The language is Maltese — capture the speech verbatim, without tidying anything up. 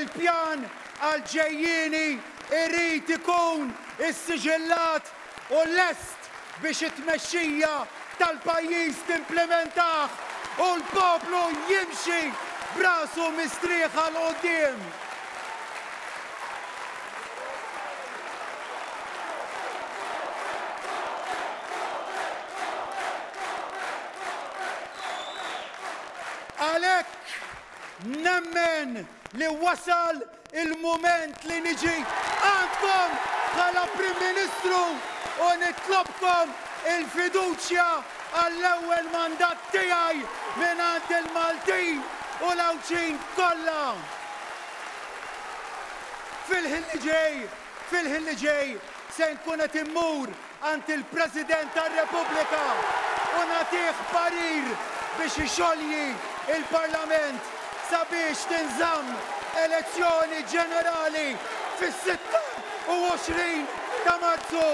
Il-pjan għal-ġejjieni irid ikun issiġillat u lest biex it-tmexxija tal-pajjiż timplementah u l-poplu jimxi b'rasu mistrieħa 'l quddiem. Għalhekk nemmen li wasal il-mument li niġi għandkom bħala Prim Ministru u nitlobkom il-fiduċja għall-ewwel mandat tiegħi mingħand il-Maltin u l-Għawdxin kollha. Fil-ħin li ġej, fil-ħin li ġej se nkun qed immur għand il-President tar-Repubblika u nagħtih parir biex ixolji il-Parlament sabiex tinżamm elezzjoni ġenerali fis-sitta u għoxrin ta' Marzu.